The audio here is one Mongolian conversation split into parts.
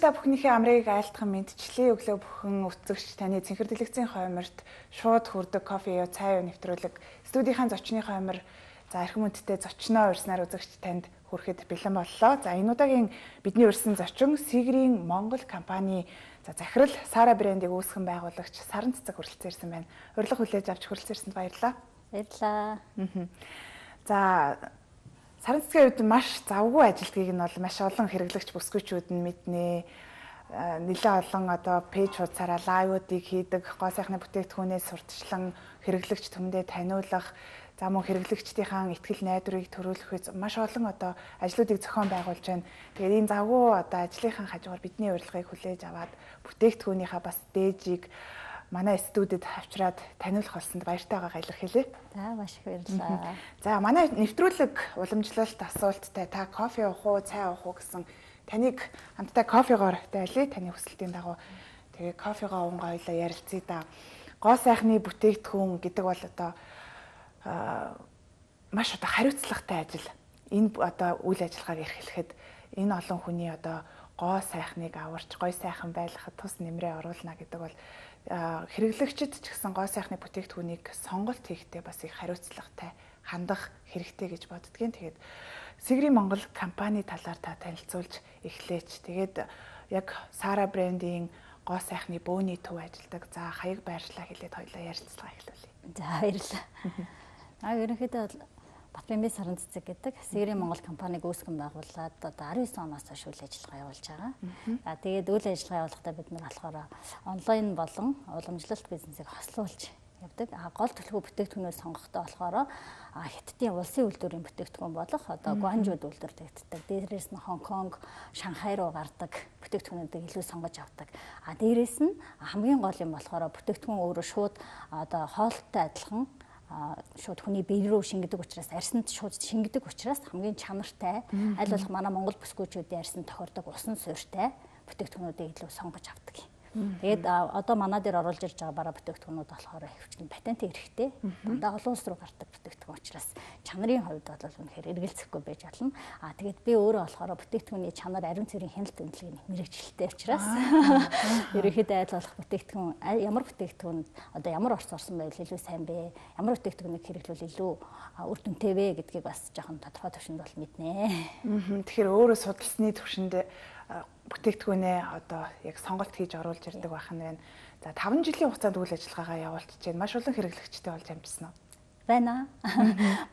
та бүхнийхээ амрыг айлтхан мэдчлийн өглөө бүхэн үтсэгч таны цэнхэр дэлгэцийн хойморт шууд хүрдэг кофе юу цай юу нэвтрүүлэг студийнхаа зочны хоймор за эрхэм үндтэй зочноо урьснаар үзэгч танд хүрэхэд бэлэн боллоо. За энэ удаагийн бидний урьсан зочин Сигрийн Монгол компани за захирал Сара брендийг үүсгэн байгуулагч Саран цэцэг хүрэлцэн ирсэн байна. Урилга хүлээж авч хүрэлцэн ирсэнд баярлалаа. Баярлалаа. За Саран цэцгийн үед маш завгүй ажилтгийг нь бол маш олон хэрэглэгч бүсгүйчүүд нь мэднэ. Нэлээд олон одоо пэйж хуудасаараа лайвуудыг хийдэг, гоо сайхны бүтээгдэхүүнээс сурталчлан хэрэглэгч түмдээ таниулах, за мөн хэрэглэгчдийнхаа ихтгэл найдварыг төрүүлэх маш олон одоо ажлуудыг зохион байгуулж байна. Тэгээд энэ завгүй одоо ажлынхаа хажуугаар бидний урилгыг хүлээж аваад бүтээгдэхүүнийхаа бас дээжийг манай студид авчираад таниулах болсонд баяртай байгааг илэрхийлье. За маш их баярлалаа. За манай нэвтрүүлэг уламжлалт асуулттай та кофе уух уу, цай уух уу гэсэн таныг хамтдаа кофегоор дайлъя. Таны хүсэлтийн дагуу тэгээ кофегоо уунгаа хоёлаа ярилцъя да. Гоо сайхны бүтээгдэхүүн гэдэг бол одоо маш одоо хариуцлагатай ажил. Энэ одоо үйл ажиллагааг эрхлэхэд энэ олон хүний одоо гоо сайхныг аварч гой сайхан байлгахад тус нэмрээ оруулна гэдэг бол хэрэглэгчид ч гэсэн гоо сайхны бүтээгдэхүүнийг сонголт хийхдээ бас их хариуцлагатай хандах хэрэгтэй гэж боддгийн. Тэгээд Сигрийн Монгол компани талаар та танилцуулж эхлээч. Тэгээд яг Сара брендийн гоо сайхны бөөний төв ажилдаг. За хаяг байршлаа хэлээд хоёлаа ярилцлага эхлүүлье. За баярлалаа. Ерөнхийдөө Батбэмбэ Саран цэцэг гэдэг Сигрийн Монгол компаниг үүсгэн байгуулад одоо 19 оноос хойш үйл ажиллагаа явуулж байгаа. За тэгээд үйл ажиллагаа явуулахдаа бид нар болохоор онлайн болон уламжлалт бизнесийг хослуулж явдаг. Гол төлхөө бүтээгдэхүүнөө сонгохдоо болохоор Хятадын улсын үйлдвэрийн бүтээгдэхүүн болох одоо Гуанчжууд үйлдвэрлэгддэг. Дээрээс нь Хонконг, Шанхай руу гардаг бүтээгдэхүүнүүдийг илүү сонгож авдаг. Дээрээс нь хамгийн гол юм болохоор бүтээгдэхүүн өөрөө шууд одоо хоолттой адилхан шууд хүний бие рүү шингэдэг учраас арьсанд шууд шингэдэг учраас хамгийн чанартай аль болох манай Монгол бүсгүйчүүдийн арьсанд тохирдог усан суурьтай бүтээгдэхүүнүүдийг илүү сонгож авдаг. Тэгээд одоо манай дээр оруулж ирж байгаа бараа бүтээгдэхүүнүүд болохоор хөвчлэн патентын хэрэгтэй. Дандаа олон улс руу гардаг бүтээгдэхүүн учраас чанарын хувьд бол үнэхээр эргэлзэхгүй байж болно. Тэгээд би өөрөө болохоор бүтээгдэхүүний чанар ариун цэврийн хяналт үнэлгээний мэрэгчлэлтэй учраас ерөнхийдөө аль болох бүтээгдэхүүн ямар бүтээгдэхүүн одоо ямар орц орсон байвал илүү сайн бэ? Ямар бүтээгдэхүүнийг хэрэглүүл илүү үр дүнтэй вэ гэдгийг бас жоохон тодорхой төвшөнд бол мэднэ. Тэгэхээр өөрөө судалсны төвшөнд бүтээгдэхүүнээ одоо яг сонголт хийж оруулж ирдэг байх нь байна. За 5 жилийн хугацаанд үйл ажиллагаагаа явуулчихж байна. Маш олон хэрэглэгчтэй болж амжсан уу? Байна.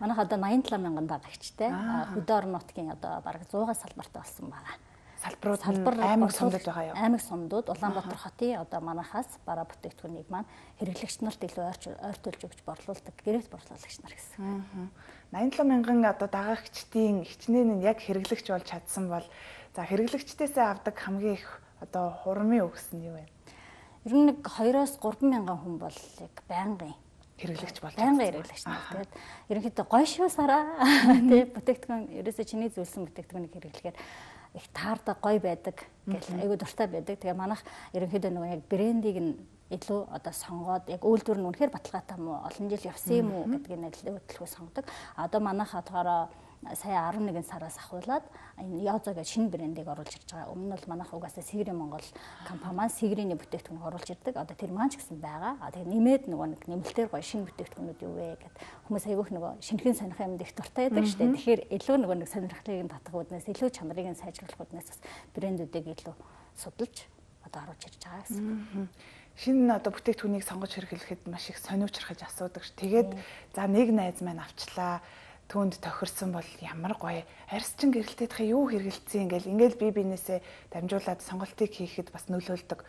Манайх одоо 87 мянган дагагчтай. Хөдөө орон нутгийн одоо бараг 100-аас салбартай болсон байгаа. Салбар аймаг сумдууд байгаа юу? Аймаг сумдууд Улаанбаатар хотын одоо манайхаас бараа бүтээгдэхүүнийг маань хэрэглэгч нарт илүү ойртуулж өгч борлуулдаг гэрээт борлуулагч нар гэсэн. 87 мянган одоо дагагчдын хичнээн нь яг хэрэглэгч болж чадсан бол за хэрэглэгчдээсээ авдаг хамгийн их одоо хурамын өгс нь юу вэ? Ер нь нэг 2-оос 3 мянган хүн бол яг байнгын хэрэглэгч болж байнгын хэрэглэгч нар. Тэгээд ерөнхийдөө гоё шүү Сара. Тэ бүтээгдэхүүн ерөөсөө чиний зүйлсэн бүтээгдэхүүнийг хэрэглэхээр их таардаг гоё байдаг гэх айгуу дуртай байдаг. Тэгээ манайх ерөнхийдөө нөгөө яг брендийг нь илүү одоо сонгоод яг үйлдвэр нь үнэхээр баталгаатай мó олон жил явсан юм уу гэдгийг нэрлэлгүй сонгодог. Одоо манайх хатгаараа сая 11 сараас ахуулаад энэ Язо гэж шинэ брендийг оруулж ирж байгаа. Өмнө нь бол манайх угаасаа Сигрийн Монгол компани маань Сигрийн бүтээгдэхүүнийг оруулж ирдэг. Одоо тэр маань ч гэсэн байгаа. Тэгээ нэмээд нөгөө нэг нэмэлтээр гоё шинэ бүтээгдэхүүнүүд юу вэ гэд хүмүүс айгүйх нөгөө шинхэн сонирхох юмд их дуртай байдаг шүү дээ. Тэгэхээр илүү нөгөө нэг сонирхлыг татах үүднээс илүү чанарыг нь сайжруулах үүднээс бас брэндүүдийг илүү судалж одоо оруулж ирж байгаа гэсэн. Шинэ одоо бүтээгдэхүүнийг сонгож хэрэглэхэд маш их сониучрахж асуудаг ш. Тэгээд за нэг найз маань авчлаа. Түүнд тохирсон бол ямар гоё арьсчин гэрэлтээдхээ юу хэрэгэлцсэн ингээл би бинээсээ дамжуулаад сонголтыг хийхэд бас нөлөөлдөг.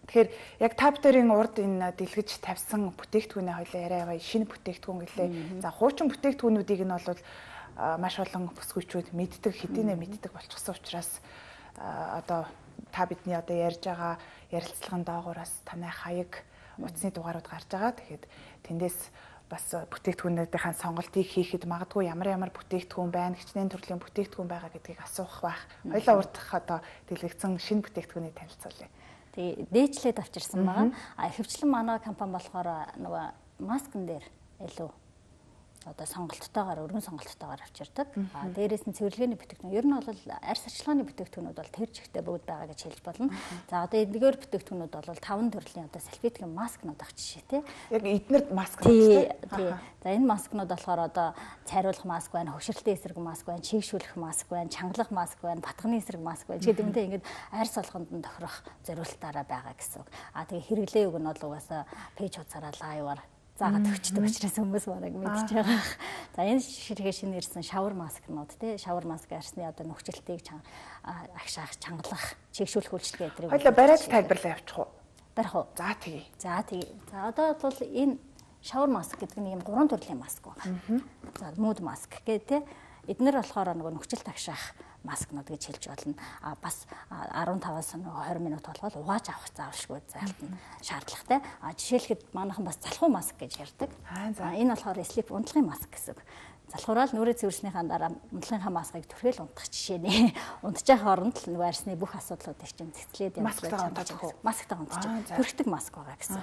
Тэгэхээр яг та бүдэрийн урд энэ дэлгэж тавьсан бүтээгдэхүүнээ хоёлаа яриа яваа шинэ бүтээгдэхүүн гэлээ. За хуучин бүтээгдэхүүнүүдийг нь бол маш олон бүсгүйчүүд мэддэг, хэдийнэ мэддэг болчихсон учраас одоо та бидний одоо ярьж байгаа ярилцлагын доогуураас танай хаяг утасны дугаарууд гарч байгаа. Тэгэхээр тэндээс бас бүтээгдэхүүнүүдийн сонголтыг хийхэд магадгүй ямар бүтээгдэхүүн байна, хичнээн төрлийн бүтээгдэхүүн байгаа гэдгийг асуух байх. Хоёлаа урдах одоо дэлгэцэн шинэ бүтээгдэхүүнийг танилцуулъя. Тэгээ дээжлээд авчирсан байгаа. Хөвчлэн манай компани болохоор нөгөө маскн дээр илүү одоо сонголттойгоор өргөн сонголттойгоор авчирдаг. Дээрээс нь цэвэрлэгээний бүтээгдэхүүн. Ер нь бол арьс арчилгааны бүтээгдэхүүнүүд бол тэр жигтэй бүгд байгаа гэж хэлж болно. За одоо эдгээр бүтээгдэхүүнүүд бол 5 төрлийн одоо салфетикийн маскнууд ах жишээ тий. Яг эднэрд маскнууд тий. За энэ маскнууд болохоор одоо цайруулах маск байна, хөвшрөлтийн эсрэг маск байна, чийгшүүлэх маск байна, чангалах маск байна, батганы эсрэг маск байна. Тэгээд үүнтэй ингээд арьс болгонд нь тохирох зориулалтаараа байгаа гэсэн үг. Тэгээ хэрэглээ үг нь бол угаасаа пэйж хуудасаараа лайваар заагаад өгчдөг учраас хүмүүс бараг мэдчихэж байгаа. За энэ ширхэг шинэ ирсэн шавар маскнууд тий шавар маск арсны одоо нөхцөлтийг агшаах, чангалах, чийгшүүлэх үйлчлэгээ эдрийг хоёлаа бариад тайлбарлаа явуучих уу? Барих уу? За тэгье. За одоо бол энэ шавар маск гэдэг нь ийм 3 төрлийн маск байна. За мууд маск гэх тий эднэр болохоор нөгөө нөхцөлт агшаах маскнууд гэж хэлж болно. Бас 15-аас 20 минут болгоод угааж авах заавалшгүй зайлтна шаардлагатай. Жишээлхэд манайхан бас залхуу маск гэж ярьдаг. Энэ болохоор sleep унтлагын маск гэсэн. Залхуурал нүрээ цэвэрснийхаа дараа унтлагынхаа маскыг түрхэл унтах жишээ нэ. Унтчих хооронд л нөгөө арсны бүх асуудлуудыг чинь цэцлээд явуулж байгаа. Масктай унтчих. Төрхтөг маск байгаа гэсэн.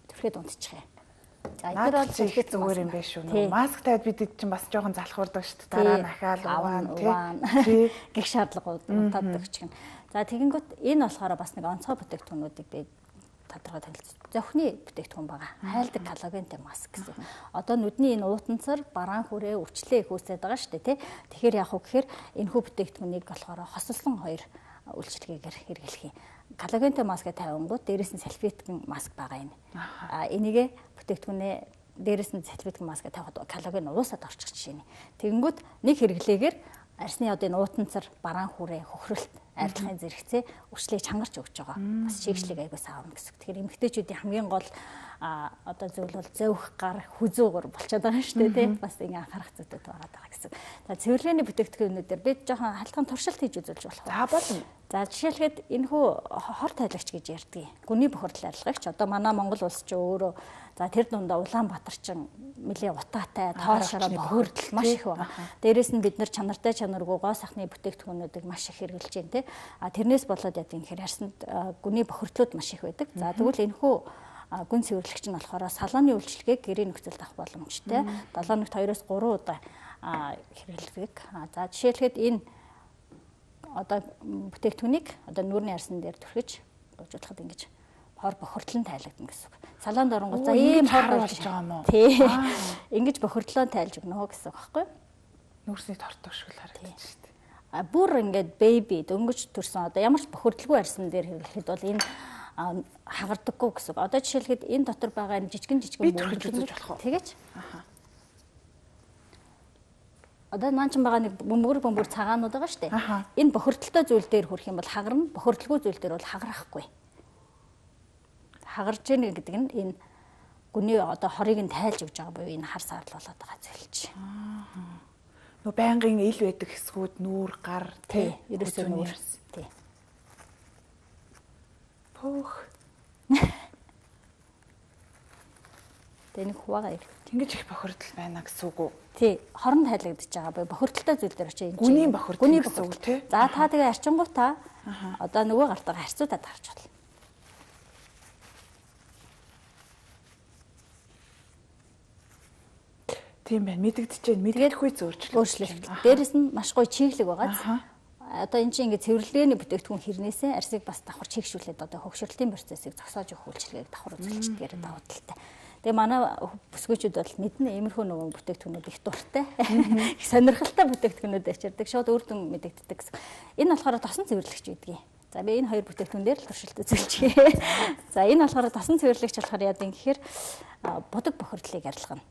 Түрхэд унтчих юм. За энэ бол их зүгээр юм биш үү? Маск тавьад бид чинь бас жоохон залхуурдаг шүү дээ. Дараа нь ахаал угаан тий гих шаардлагууд унтаадаг ч гэн. За тэгэнгүүт энэ болохоор бас нэг онцгой бүтээгдэхүүнүүдийг би тодорхой танилцуулж. Зохины бүтээгдэхүүн байгаа. Хайлдаг коллагентэй маск гэсэн. Одоо нүдний энэ уутанцар бараан хүрээ өвчлөө их үүсээд байгаа шүү дээ тий. Тэгэхээр яах вэ гэхээр энэ хүү бүтээгдэхүүнийг болохоор хосолсон 2 үйлчилгээгээр хэрэглэх юм. Коллагентэй маск тавингууд дээрээс нь салфетикийн маск байгаа юм. Энийгээ бүтээгдэхүүнээ дээрээс нь салфетикийн маск тавихад коллаген уусаад орчих жишээ нь. Тэгэнгүүт нэг хэрэглээгээр арсны одоо энэ уутанцар бараан хүрээ хөхрөлт арилгахын зэрэгцээ өвчлийг чангарч өгч байгаа. Бас чийгшлийг аягаас аавна гэсэн. Тэгэхээр эмэгтэйчүүдийн хамгийн гол одоо зүйл бол зөөх гар хүзүүгөр болчиход байгаа шүү дээ тий. Бас ингэ анхаарах зүйтэй байгаа гэсэн. За цэвэрлэгээний бүтээгдэхүүнүүдээр бид жоохон хальтхан туршилт хийж үзүүлж болох. За болно. За жишээлхэд энэ хүү хор тайлагч гэж ярьдаг. Гүний бохирдол арилгагч. Одоо манай Монгол улс ч өөрөө за тэр дундаа Улаанбаатар ч нэлээ утаатай, тоол шороо бохирдол маш их байна. Дээрээс нь бид нар чанартай чанаргүй гоо сахны бүтээгдэхүүнүүдийг маш их хэрэглэж байна тий. Тэрнээс болоод яа гэхээр арсанд гүний бохирдлууд маш их байдаг. За тэгвэл энэ хүү гүн цэвэрлэгч нь болохоор салааны үйлчлэгийг гэрээ нөхцөлд авах боломжтой. 7 өнөخت 2-3 удаа хэрэглэдэг. За жишээлхэд энэ одоо бүтээгдэхүүнийг одоо нүүрний арсан дээр түрхэж уужуулахад ингэж хор бохирдлон тайлагдана гэсэн үг. Салаанд оронгууд за ийм хор болж байгаа юм уу? Тий. Ингэж бохирдлоо тайлж өгнө гэсэн үг байхгүй юу? Нүүрсний тортог шиг л харагдаж шүү дээ. Бүр ингээд бэби дөнгөж төрсөн одоо ямар ч бохирдлгүй арсан дээр хэрэглэхэд бол энэ хагардаггүй гэсэн үг. Одоо жишээлхэд энэ дотор байгаа жижигэн бөмбөрч болох уу? Тэгэж. Одоо маань ч байгаа нэг бөмбөр цагаанууд байгаа шүү дээ. Энэ бохирдолтой зүйл дээр хүрэх юм бол хагарна, бохирдолгүй зүйл дээр бол хагарахгүй. Хагарж яах гэдэг нь энэ гүний одоо хорыг нь тайлж өгж байгаа буюу энэ хар саарл болоод байгаа зүйл чинь. Нөө байнгын ил байдаг хэсгүүд нүүр гар тий ерөөсөө нүүр тий. Пөх. Тэнийг хуваагаа ир. Ингэж их бохирдол байна гэсэн үг үү? Тий, хорон тайлагдаж байгаа буюу бохирдолтой зүйл дээр очиж энэ гүний бохирдол гэсэн үг тий. За та тэгээ арчингуудаа одоо нөгөө гартаа харьцуулаад харж болно. Тийм байна. Мэдэгдэж байна. Мэдгэхгүй өөрчлөлт. Дээрэс нь маш гоё чиглэг байгаа. Одоо энэ чинь ингээд цэвэрлэгээний бүтээгдэхүүн хэрнээсээ арсыг бас давхар чийгшүүлээд одоо хөгшрөлтийн процессыг зогсоож өгөх үйлчилгээг давхар үзүүлчихээр даваа талтай. Тэгээ манай бүсгүйчүүд бол мэднэ иймэрхүү нөгөө бүтээгдэхүүнүүд их дуртай. Их сонирхолтой бүтээгдэхүүнүүд ачирдаг. Шууд үр дүн мэдэгддэг гэсэн. Энэ болохоор тосон цэвэрлэгч гэдгийг. За би энэ хоёр бүтээгдэхүүн дээр л туршилт үзүүлчихье. За энэ болохоор тосон цэвэрлэгч болохоор яа гэхээр будаг бохирдлыг арилгана.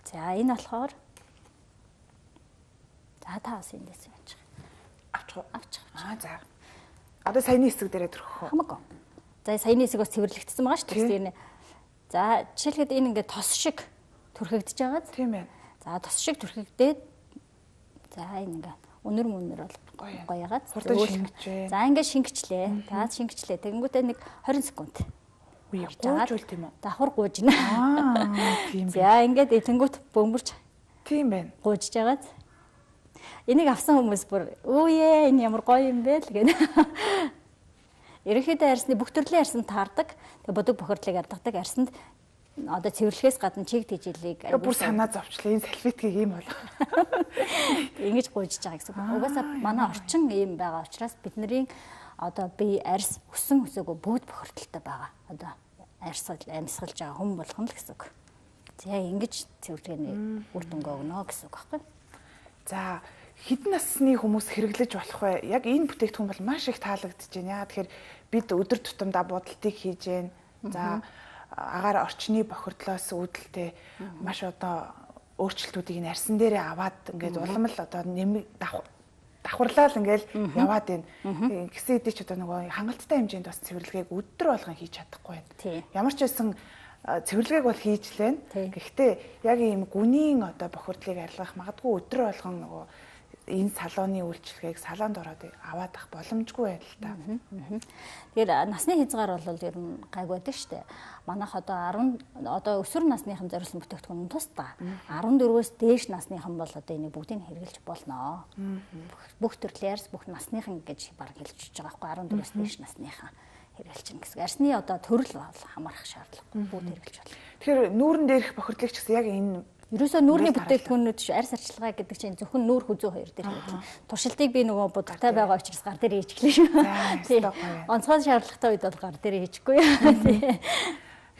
За энэ болохоор за та бас эндээс явж байгаа. Авчих. За. Одоо саяны хэсэг дээрээ төрөх үү? Хамаагүй. За саяны хэсэг бас цэвэрлэгдсэн байгаа шүү дээ. За жишээлхэд энэ ингээд тос шиг түрхэгдэж байгаа. Тийм ээ. За тос шиг түрхэгдээд за энэ ингээд өнөр мөнөр бол гоёгаад зөөлөх. За ингээд шингэчлээ. За шингэчлээ. Тэгэнгүүтээ нэг 20 секунд. Гуйжуул тийм үү? Давхар гуйж гинэ. Тийм. За ингээд этэнгүүт бөмбөрч. Тийм байна. Гуйж жагаад. Энийг авсан хүмүүс бүр өөе энэ ямар гоё юм бэ л гэнэ. Ерөнхийдөө арсны бүх төрлийн арсанд таардаг. Тэгээ бодог бохирдлыг ардгадаг арсанд одоо цэвэрлэхээс гадна чиг тэжээлийг бүр санаа зовчлаа. Энэ салфеткийг ийм болох. Ингэж гуйж байгаа гэсэн. Угаасаа манай орчин ийм байгаа учраас бидний одоо бие арьс өсөн өсөөгөө бүгд бохирдолтой байгаа. Одоо амьсгалж байгаа хүн болгоно л гэсэн үг. За ингэж цэвэрлэгээний үр дүнгээ өгнө гэсэн үг байхгүй. За хэдэн насны хүмүүс хэрэглэж болох вэ? Яг энэ бүтээгдэхүүн бол маш их таалагдж байна. Тэгэхээр бид өдөр тутамдаа будалтыг хийж байна. За агаар орчны бохирдлоос үүдэлтэй маш одоо өөрчлөлтүүдийг нь арьсан дээрээ аваад ингээд улам л одоо давхарлал ингээл яваад байна. Гэсэн хэдий ч одоо нөгөө хангалттай хэмжээнд бас цэвэрлэгээг өдөр болгон хийж чадахгүй байна. Ямар ч байсан цэвэрлэгээг бол хийж лэн. Гэхдээ яг ийм гүнийн одоо бохирдлыг арилгах магадгүй өдөр болгон нөгөө энэ салооны үйлчлэгийг салаанд ороод аваад ах боломжгүй байл та. Тэгэхээр насны хязгаар бол ер нь гайг байдаг шүү дээ. Манайх одоо өсвөр насныхан зориулсан бүтээгдэхүүн тусдаа 14-өөс дээш насныхан бол одоо энийг бүгдийг хэрэглэж болно. Бүх төрлийн арьс бүх насныхан гэж баг хэлж байгаа байхгүй 14-өөс дээш насныхан хэрэглэж чинь гэсэн. Арьсны одоо төрөл бол хамаарах шаардлагагүй бүгд хэрэглэж болно. Тэгэхээр нүүрэн дээрх бохирдлыг ч гэсэн яг энэ ерөөсөө нүүрний бүтээгдэхүүнүүд арьс арчилгаа гэдэг чинь зөвхөн нүүр хүзүү хоёр дээр хэрэглэн. Туршилтыг би нөгөө будалтай байгаа учраас гар дээр хийчихлээ шүү. Онцгой шаардлагатай үед бол гар дээр хийчихгүй.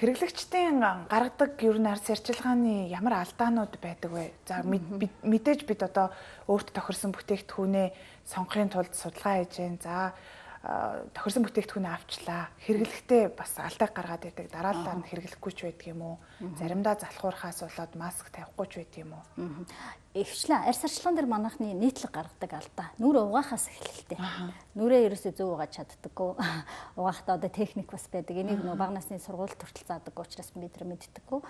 Хэрэглэгчдийн гаргадаг ер нь арьс арчилгааны ямар алдаанууд байдаг вэ? За мэдээж бид одоо өөрт тохирсон бүтээгдэхүүнээ сонгохын тулд судалгаа хийж байна. За тохирсон бүтээгдэхүүнээ авчлаа. Хэрэглэхдээ бас алдаа гаргаад ирдэг. Дараалал нь хэрэглэхгүй ч байдаг юм уу? Заримдаа залхуурхаас болоод маск тавихгүй ч байдаг юм уу? Ихвчлэн арьс арчилгаан дээр манайхны нийтлэг гаргадаг алдаа. Нүрээ угаахаас эхэлхтэй. Нүрээ ерөөсөө зөв угааж чаддаггүй. Угаахтаа одоо техник бас байдаг. Энийг нөгөө бага насны сургуульд хүртэл заадаггүй учраас бид нар мэддэггүй.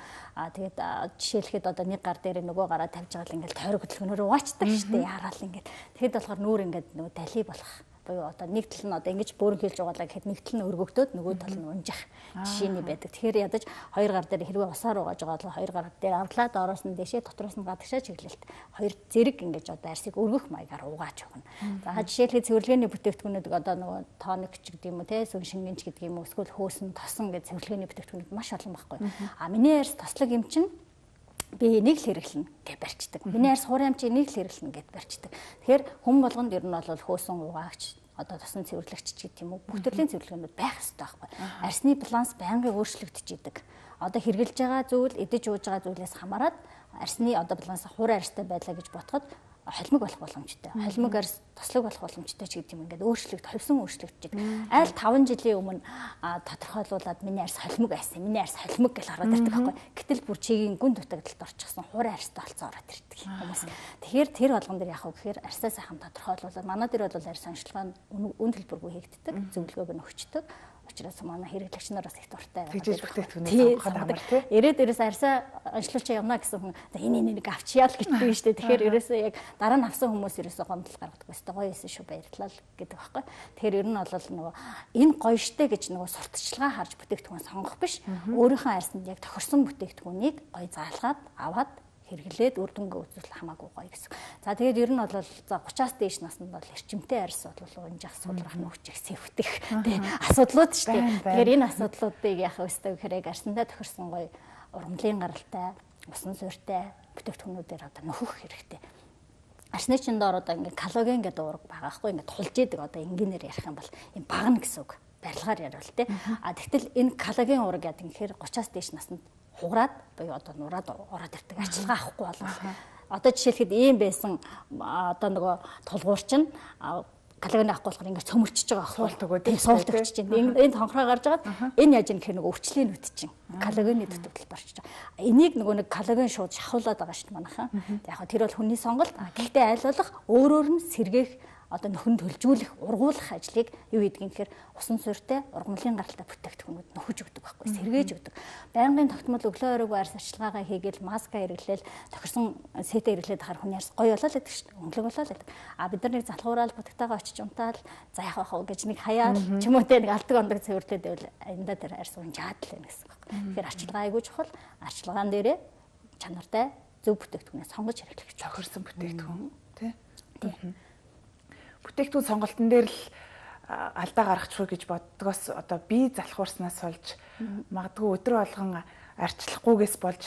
Тэгээд жишээлхэд одоо нэг гар дээр нөгөө гараа тавьж байгаа л ингээл тойрог хөдөлгөөнөөр угаачдаг шүү дээ. Яараал ингээд. Тэгэхэд болохоор нүур ингээд нөгөө дали болох. Буюу одоо нэг тал нь одоо ингэж бөөрөнхийлж угаалаа гэхэд нэг тал нь өргөгдөөд нөгөө тал нь унжих жишээний байдаг. Тэгэхээр ядаж хоёр гар дээр хэрвээ усаар угааж байгаа бол хоёр гар дээр авлаа доороос нь дэшээ дотроос нь гадагшаа чиглэлт хоёр зэрэг ингэж одоо арьсыг өргөх маягаар угааж өгнө. За жишээлбэл цэвэрлэгээний бүтээгдэхүүнүүд одоо нөгөө тоник ч гэдэг юм уу те сүн шингэнч гэдэг юм уу эсвэл хөөсөн тосон гэж цэвэрлэгээний бүтээгдэхүүнүүд маш олон байхгүй. Миний арьс тослог юм чинь би энийг л хэрэглэнэ гэж барьцдаг. Миний арьс хуурай амч энийг л хэрэглэнэ гэж барьцдаг. Тэгэхээр хүн болгонд ер нь бол хөөсөн угаагч одоо тосон цэвэрлэгч гэдэг юм уу бүх төрлийн цэвэрлэгнүүд байх хэрэгтэй байхгүй. Арьсны баланс байнгын өөрчлөгдөж идэг. Одоо хэрглэж байгаа зүйл, идэж ууж байгаа зүйлээс хамаарат арьсны одоо баланс хуурай арьстай байлаа гэж ботход холимог болох боломжтой. Холимог арьс тослог болох боломжтой ч гэдэг юм ингээд хувьсан өөрчлөгдөж идэг. Айл 5 жилийн өмнө тодорхойлуулаад миний арьс холимог байсан. Миний арьс холимог гэж ороод ирдэг байхгүй. Гэтэл бүр чигийн гүн дутагдалд орчихсон хуурай арьстай болцоо ороод ирдэг хүмүүс. Тэгэхээр тэр болгон дээр яах вэ гэхээр арьсаа сайхан тодорхойлуулаад манай дээр бол арьс онцлогоо үн төлбөргүй хийгддэг. Зөвлөгөөг нь өгчдөг. Учраас манай хэрэглэгч нар бас их дуртай байна. Тэгжиж бүтээгдэхүүнээ сонгоход амар тий. Ирээд арьсаа онцлуулчаа явна гэсэн хүн энэ нэг авчиа л гэдэг юм шүү дээ. Тэгэхээр ерөөсөө яг дараа нь авсан хүмүүс ерөөсөө гомдол гаргадаг. Өстой гоё эсэн шүү баярлалаа гэдэг байхгүй. Тэгэхээр ер нь бол нөгөө энэ гоё штэ гэж нөгөө сурталчилгаа харж бүтээгдэхүүн сонгох биш. Өөрийнхөө арьсанд яг тохирсон бүтээгдэхүүнийг гоё заалгаад аваад хэрэглээд үр дүнгээ үзүүл хамаагүй гоё гэсэн. За тэгээд ер нь бол за 30-аас дээш наснд бол эрчимтэй арьс бол унжих судрах нөхчих сэвтэх тий асуудлууд шүү дээ. Тэгэхээр энэ асуудлуудыг яах вэ гэхээр яг арьсандаа тохирсон гоё ургамлын гаралтай, усан суурьтай бүтээгдэхүүнүүдээр одоо нөхөх хэрэгтэй. Арьсны чинь доор одоо ингээд коллаген гэдэг уурга байгаа хгүй ингээд тулж идэг одоо энгийнээр ярих юм бол юм багна гэсэн үг. Барилгаар яриул тий. Тэгтэл энэ коллаген уурга яадаг юм гэхээр 30-аас дээш наснд хугараад буюу одоо нураад ороод ирдэг арчилгаа авахгүй бол одоо жишээлхэд ийм байсан одоо нөгөө тулгуур чинь коллаген авахгүй болохоор ингээд цөмөрчж байгаа байхгүй тийм суулт өгч чинь энэ тонхроо гарч агаад энэ яаж юм гэхээр нөгөө өвчлийн нүд чинь коллагены дутагдалд орчиж байгаа. Энийг нөгөө нэг коллаген шууд шахуулаад байгаа шүү дээ манайхан. Яг хөө тэр бол хүний сонголт. Гэхдээ аль болох өөрөөр нь сэргээх одоо нөхөн төлжүүлэх, ургуулах ажлыг юу хийдэг юм гэхээр усан суурьтай, ургамлын гаралтай бүтээгдэхүүнүүд нөхөж өгдөг байхгүй, сэргээж өгдөг. Байнгын тогтмол өглөө оройгүй арьс арчилгаагаа хийгээл маска хэрэглээл, тохирсон сэтэ хэрэглээд хахаар хүний арьс гоё болоод байдаг шүү дээ. Өнгөлөг болоод байдаг. Бид нар нэг залхуураал бутагтайгаа очиж унтаал, за яах вэ гэж нэг хаяал ч юм уу те нэг алдаг ондог цэвэрлээд байвал аяндаа тэр арьс унжаад л байна гэсэн байхгүй. Тэгэхээр арчилгаа айгүй чухал. Арчилгаан дээрээ чанартай зөв бүтээгдэхүүнээ сонгож хэрэглэх. Тохирсон бүтээгдэхүүн тий. Бүтээгдэхүүн сонголтын дээр л алдаа гаргачихгүй гэж боддгоос одоо би залхуурснаас болж магадгүй өдөр болгон арчлахгүйгээс болж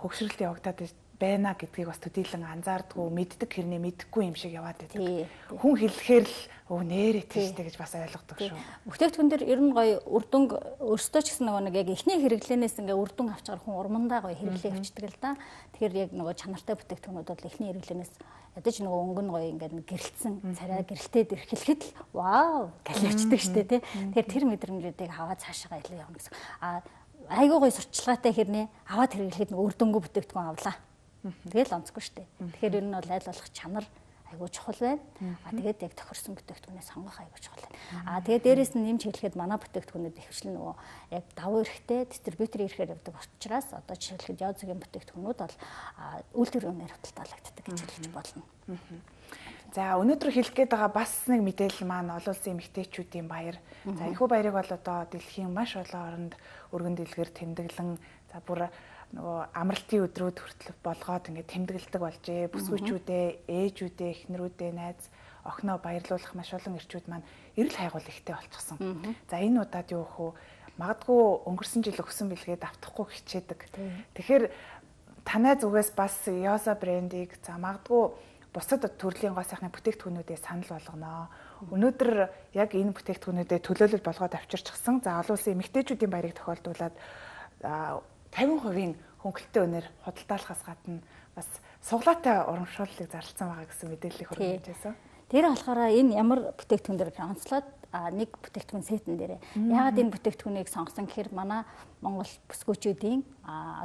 хөгшрөлт явагдаад байна гэдгийг бас төдийлөн анзаардгүй мэддэг хэрнээ мэдхгүй юм шиг яваад байдаг. Хүн хэлэхээр л нээрээ тийштэй гэж бас ойлгодог шүү. Бүтээгдэхүүн дээр ер нь гоё үрдүнг өөртөө ч гэсэн нөгөө нэг яг эхний хэрэглэнээс ингээ үрдүн авчгаар хүн урмандаа гоё хэрэглээ явчихдаг л да. Тэгэхээр яг нөгөө чанартай бүтээгдэхүүнүүд бол эхний хэрэглэнээс ядаж нөгөө өнгө нь гоё ингээ гэрэлтсэн царай гэрэлтээд ирэхлэхэд л вау гэж явчихдаг штэ тий. Тэгэхээр тэр мэдрэмжүүдийг аваад цаашаа илүү явна гэсэн. Айгуу гоё сурчлагатай хэрнээ аваад хэрэглэхэд нөгөө үрдөнгөө бүтээгдэхүүн авлаа. Тэгэл онцгүй штэ. Тэгэхээр ер нь бол айл болох чанар айгуу чухал байна. Тэгээд яг тохирсон бүтээгдэхүүнээ сонгох айгуу чухал байна. Тэгээд дээрэс нь нэмж хэлэхэд манай бүтээгдэхүүнүүд ихвчлэн нөгөө яг давуу эрэхтэй дистрибьютор ирэхээр явдаг учраас одоо жишээлбэл Яозгийн бүтээгдэхүүнүүд бол үйлдвэрийн үнээр худалдаалагддаг гэж хэлж болно. За өнөөдөр хэлэх гээд байгаа бас нэг мэдээлэл маань олон улсын эмэгтэйчүүдийн баяр. За энэхүү баярыг бол одоо дэлхийн маш олон оронд өргөн дэлгэр тэмдэглэн за бүр нөгөө амралтын өдрүүд хүртэл болгоод ингээд тэмдэглэдэг болжээ. Бүсгүйчүүдээ, ээжүүдээ, эхнэрүүдээ, найз, охиноо баярлуулах маш олон ирчүүд маань эрэл хайгуул ихтэй болчихсон. За энэ удаад юу вэ? Магадгүй өнгөрсөн жил өгсөн бэлгээд автахгүй хичээдэг. Тэгэхээр танай зүгээс бас Яоза брендийг за магадгүй бусад төрлийн гоо сайхны бүтээгдэхүүнүүдээ санал болгоно. Өнөөдөр яг энэ бүтээгдэхүүнүүдэд төлөөлөл болгоод авчирчихсан. За олон улсын эмэгтэйчүүдийн баярыг тохиолдуулаад 50% хөнгөлөлтөө өнөр худалдаалахаас гадна бас суглаатай урамшууллыг зарласан байгаа гэсэн мэдээллийг хүргэжсэн. Тэр болохоор энэ ямар бүтээгдэхүүн дээр онцлоод нэг бүтээгдэхүүн сетэн дээр яагаад энэ бүтээгдэхүүнийг сонгосон гэхээр манай Монгол бүсгүйчүүдийн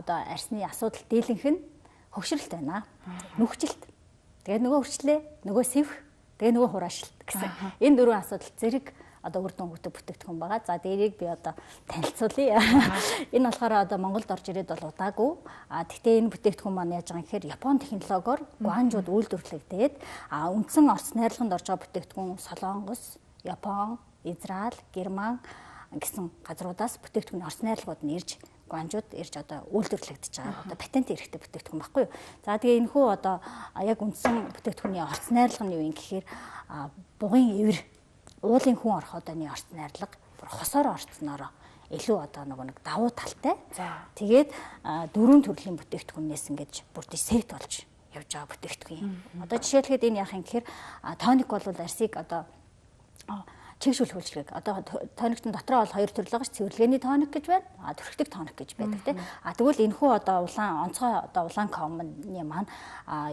одоо арсны асуудал дийлэнх нь хөгшрөлт байна. Нүхжилт. Тэгээд нөгөө хөрчлээ, нөгөө сэвх, тэгээд нөгөө хураашилт гэсэн. Энэ дөрвөн асуудал зэрэг одоо үр дүнгуудтай бүтээгдэхүүн байгаа. За дээрийг би одоо танилцуулъя. Энэ болохоор одоо Монголд орж ирээд бол удаагүй. Тэгтээ энэ бүтээгдэхүүн маань яаж байгаа юм гэхээр Япон технологиор гуанжууд үйлдвэрлэгдээд үндсэн Орос найрлаганд орж байгаа бүтээгдэхүүн Солонгос, Япон, Израиль, Герман гэсэн газруудаас бүтээгдэхүүн Орос найрлагууд нь ирж гуанжууд ирж одоо үйлдвэрлэгдэж байгаа. Одоо патент эрэхтэй бүтээгдэхүүн баггүй юу. За тэгээ энэхүү одоо яг үндсэн бүтээгдэхүүний Орос найрлага нь юу юм гэхээр бугын эвэр уулын хүн ороход оны орц найрлага бүр хосоор орцноороо илүү одоо нэг давуу талтай. Тэгээд дөрвөн төрлийн бүтээгдэхүүнээс ингэж бүр сет болж явж байгаа бүтээгдэхүүн. Одоо жишээлхэд энэ яах юм гэхээр тоник бол арсыг одоо чигшүүл хөлжлөг. Одоо тоникт дотроо бол хоёр төрөл байгаа ш. Цэвэрлэгээний тоник гэж байна. Төрхтөг тоник гэж байдаг тийм. Тэгвэл энэхүү одоо улаан онцгой одоо улаан комны маань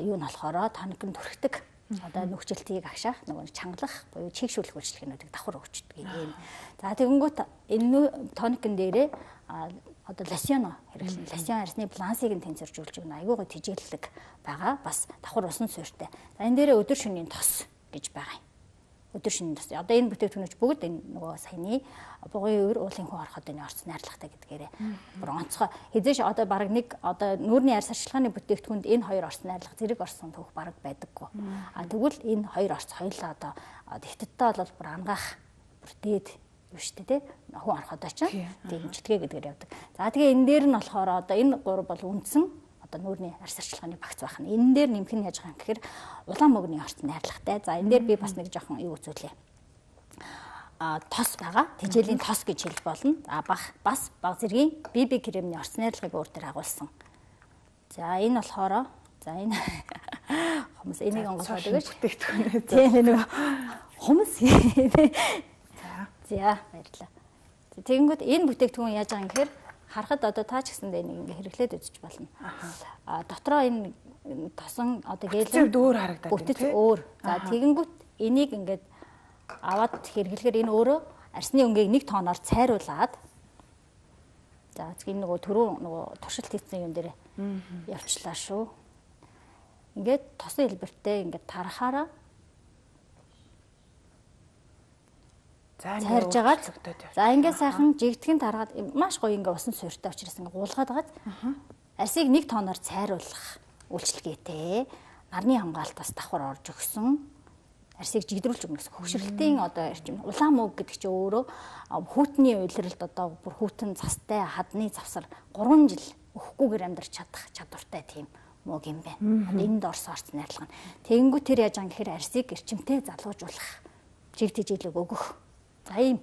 юу нь болохоор тоник нь төрхтөг одоо нүхжилтийг агшаах нөгөө чангалах буюу чигшүүлэх үйлчлэгнүүдийг давхар өгчдөг юм. За тэгэнгүүт энэ тоникын дээрээ одоо лосьон хэрэглэн лосьон арсны балансыг нь тэнцвэржүүлж өгнө. Айгуу гоо тижээллэг байгаа. Бас давхар усан суурьтай. За энэ дээрээ өдөр шөнийн тос гэж байгаа юм. Өдөр шөнийн тос. Одоо энэ бүтээгдэхүүнүүд бүгд энэ нөгөө саяны бугын өвөр уулын хүн ороход энэ орц найрлагатай гэдгээрээ бүр онцгой. Хэзээш одоо баг нэг одоо нүүрний арьс арчилгааны бүтээгдэхүүнд энэ хоёр орц найрлага зэрэг орсон түүх баг байдаггүй. Тэгвэл энэ хоёр орц хоёлаа одоо хятадтай бол бүр ангаах бүр дээд юу штэ тий хүн ороход очоо тийм житгэ гэдгээр явдаг. За тэгээ энэ дээр нь болохоор одоо энэ гурав бол үндсэн одоо нүүрний арьс арчилгааны багц байх нь. Энэ дээр нэмэх нь яаж байгаа юм гэхээр улаан мөгний орц найрлагатай. За энэ дээр би бас нэг жоохон юу үзүүлээ. Тос байгаа. Тижээлийн тос гэж хэлж болно. Бас баг зэргийн BB кремний орц найрлагыг өөр дээр агуулсан. За энэ болохоор за энэ хүмүүс энийг онгоцоод өгөөч. Бүтээгдэхүүн. Тийм нэг хүмүүс. За баярлалаа. Тэгэнгүүт энэ бүтээгдэхүүн яаж байгаа юм гэхээр харахад одоо таа ч гэсэндээ нэг ингээ хэрэглээд үзэж болно. Дотроо энэ тосон одоо гэлэн өөр харагдаад байна. Бүтэц өөр. За тэгэнгүүт энийг ингээд аваад хэрэглэхээр энэ өөрөө арсны өнгийг 1 тоноор цайруулад за энэ нөгөө түрүү нөгөө туршилт хийсэн юм дээр явчлаа шүү. Ингээд тосон хэлбэртэй ингээд тарахаараа цайрж агаад за ингээд сайхан жигтгэн таргаад маш гоё ингээд усан суурьтай учраас ингээд гуулгаад агаад арсыг 1 тоноор цайруулах үйлчлэгээтэй нарны хамгаалтаас давхар орж өгсөн арсыг жигдрүүлж өгнө гэсэн хөгшрөлтийн одоо эрчим улаан мөг гэдэг чинь өөрөө хүүтний уйлралд одоо бүр хүүтэн цастай хадны завсар 3 жил өгөхгүйгээр амьдарч чадах чадвартай тийм мөг юм байна. Энд орсон орц найрлага нь. Тэгэнгүүт тэр яаж байгаа гэхээр арсыг эрчимтэй залуужуулах жиг тэжээлэг өгөх За ийм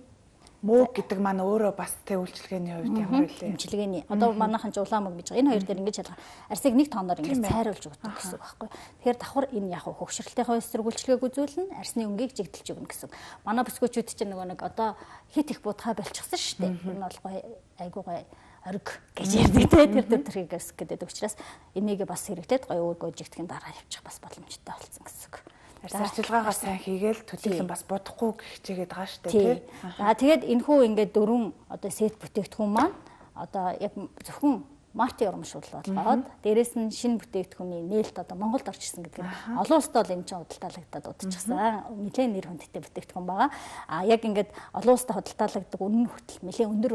мөөг гэдэг маань өөрөө бас тэ үйлчилгээний хувьд ямар вэ? Имчилгээний. Одоо манайхан ч улаан мөг гэж байгаа. Энэ хоёр дээр ингэж ялгаа. Арсыг нэг тооноор ингэж цайруулж өгдөг гэсэн үг байхгүй. Тэгэхээр давхар энэ яг хөвгшрэлтийнхаа эсрэг үйлчилгээг үзүүлнэ, арсны өнгийг жигдэлж өгнө гэсэн. Манай бүсгүүчүүд чинь нэг одоо хит их будхай болчихсон шүү дээ. Энэ бол гоё айгуу гоё ориг гэж ярьдаг те тэр төрхийгээс гэдэг учраас энийг бас хэрэглээд гоё өөргөө жигдэхин дараа явчих бас боломжтой болсон гэсэн үг. Арчилгаагаа сайн хийгээл төдийлөн бас бодохгүй хичээгээд байгаа шүү дээ тий. За тэгээд энэхүү ингээд 4 одоо сет бүтээгдэхүүн маань одоо яг зөвхөн марти урамшуул болгоод дээрэс нь шинэ бүтээгдэхүүний нээлт одоо Монголд орж ирсэн гэдэг нь олон улсад бол энэ чинь худалдаалагдаад удажчихсан. Нэлээд нэр хүндтэй бүтээгдэхүүн байгаа. А яг ингээд олон улсад худалдаалагддаг үнэн хөтөл нэлээд өндөр